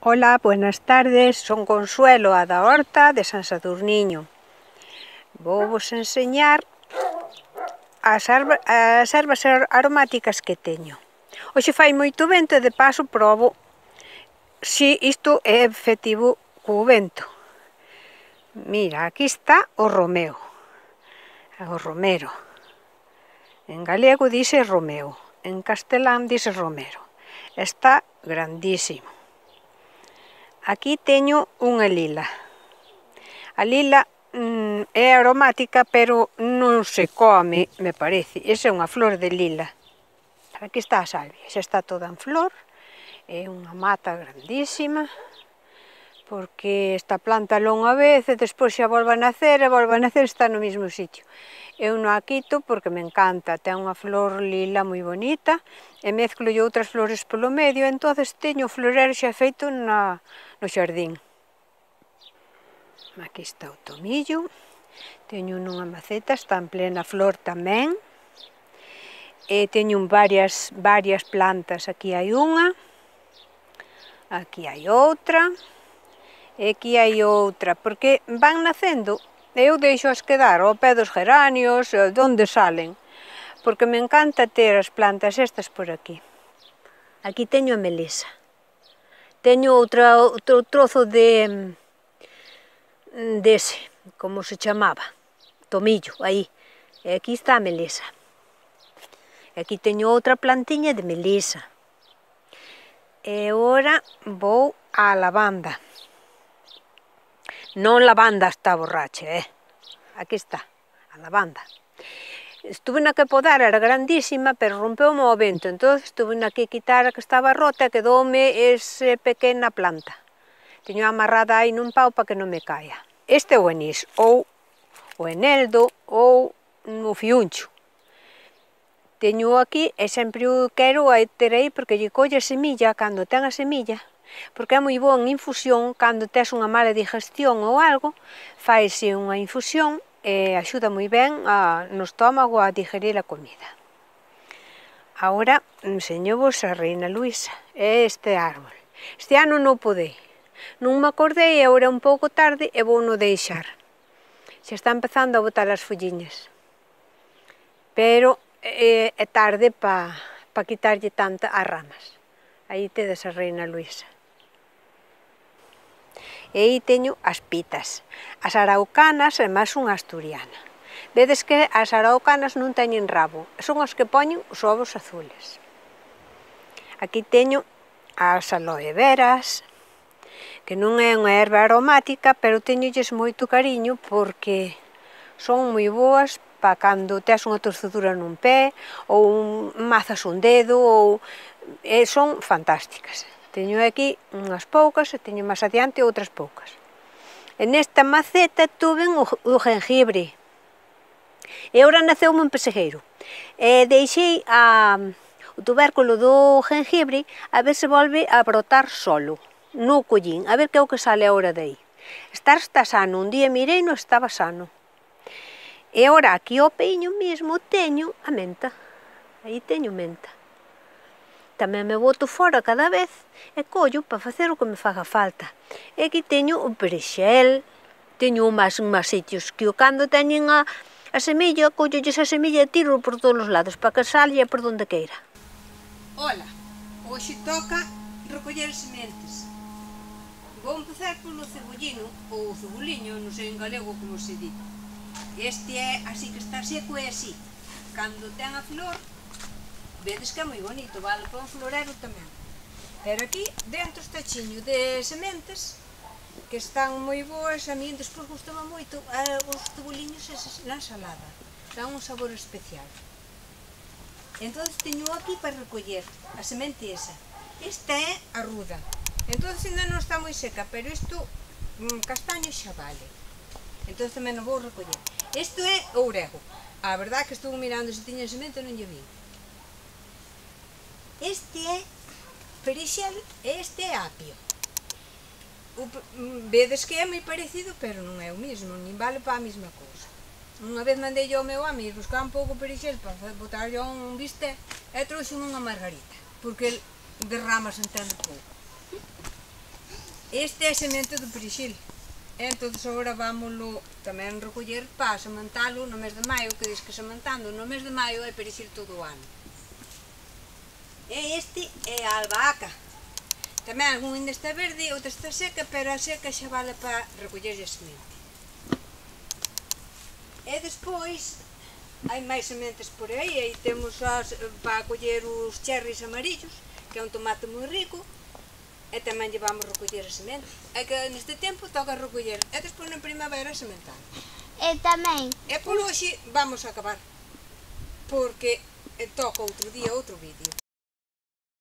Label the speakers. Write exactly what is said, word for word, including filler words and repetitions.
Speaker 1: Ola, buenas tardes, son Consuelo, a da horta de San Sadurniño. Vou vos enseñar as, as ervas aromáticas que teño. Hoxe fai moito vento e de paso probo se isto é efectivo co vento. Mira, aquí está o romeo, o romero. En galego dice romeo, en castelán dice romero. Está grandísimo. Aquí teño unha lila. A lila mm, é aromática, pero non se come, me parece. Esa é unha flor de lila. Aquí está a salvia, xa está toda en flor. É unha mata grandísima, porque esta planta longa vez e despois xa volve a nacer e volve a nacer, está no mesmo sitio. Eu non a quito porque me encanta, ten unha flor lila moi bonita e mezclo outras flores polo medio, entonces teño o florero xa feito na, no xardín. Aquí está o tomillo, teño nunha maceta, está en plena flor tamén. E teño varias, varias plantas, aquí hai unha, aquí hai outra, e aquí hai outra, porque van nacendo. Eu deixoas quedar ao pé dos geranios, onde salen, porque me encanta ter as plantas estas por aquí. Aquí teño a melisa. Teño outra, outro trozo de dese, como se chamaba, tomillo, aí. E aquí está a melisa. E aquí teño outra plantiña de melisa. E agora vou á lavanda. Non lavanda está borracha, eh? Aquí está, a lavanda. Estuve na que podar, era grandísima, pero rompeu-me o vento, entón estuve na que quitar a que estaba rota e quedoume esa pequena planta. Teño amarrada aí nun pau para que non me caia. Este é o anís, ou o eneldo, ou o fiuncho. Teño aquí e sempre o quero ter aí porque lle colle a semilla cando ten a semilla, porque é moi boa en infusión, cando tes unha mala digestión ou algo, faise unha infusión e axuda moi ben a, no estómago a digerir a comida. Agora enseño-vos a Reina Luisa, é este árbol. Este ano non podei, non me acordei, agora é un pouco tarde e vou no deixar. Xa está empezando a botar as folliñas, pero é, é tarde para pa quitarlle tanta as ramas. Aí tedes a Reina Luisa. E aí teño as pitas, as araucanas e máis unha asturiana. Vedes que as araucanas non teñen rabo, son as que poñen os ovos azules. Aquí teño as aloe veras, que non é unha erva aromática, pero teñolles moito cariño porque son moi boas para cando tes unha torcedura nun pé, ou un, mazas un dedo, ou e son fantásticas. Teño aquí unhas poucas e teño máis adiante outras poucas. E nesta maceta tuve o, o gengibre. E agora naceu un pesegueiro. E deixei a, o tubérculo do gengibre a ver se volve a brotar solo, no collín, a ver que é o que sale agora dai. Estar está sano, un día mirei non estaba sano. E agora aquí ao peiño mesmo teño a menta. Aí teño menta. Tamén me boto fora cada vez e collo para facer o que me faga falta. E aquí teño o perexel, teño máis máis sitios que o cando teñen a, a semilla, collolles a semilla e tiro por todos os lados para que salga por donde queira. Ola, hoxe toca recoller sementes. Vou empezar polo cebollino, ou ceboliño, non sei en galego como se di. Este é así que está seco e así. Cando ten a flor, vedes que é moi bonito, vale para un florero tamén. Pero aquí dentro está chiño de sementes que están moi boas, a mí despois gustaba moito os ceboliños na ensalada, dan un sabor especial. Entón teño aquí para recoller a semente esa. Esta é a ruda, entón ainda non está moi seca, pero isto castaño xa vale. Entón tamén o vou recoller. Isto é ourego, a verdade que estou mirando se tiña semente e non lle vi. Este é perexel e este é apio. O, vedes que é moi parecido, pero non é o mesmo, nin vale para a mesma cousa. Unha vez mandei ao meu amigo buscar un pouco perexel para botar yo un bistec e trouxe unha margarita, porque derramas entende pouco. Este é a semente do perexil. Entón, agora vámoslo tamén recoller para sementalo no mes de maio, que diz que sementando no mes de maio é perexil todo o ano. E este é a albahaca. Tamén algún ainda está verde, outra está seca, pero a seca xa vale para recoller a semente. E despois, hai máis sementes por aí, aí temos as, para coller os cherries amarillos, que é un tomate moi rico, e tamén llevamos recoller a semente. É que neste tempo toca recoller, e despois na primavera sementar.
Speaker 2: E tamén...
Speaker 1: E por hoxe vamos a acabar, porque toca outro día outro vídeo.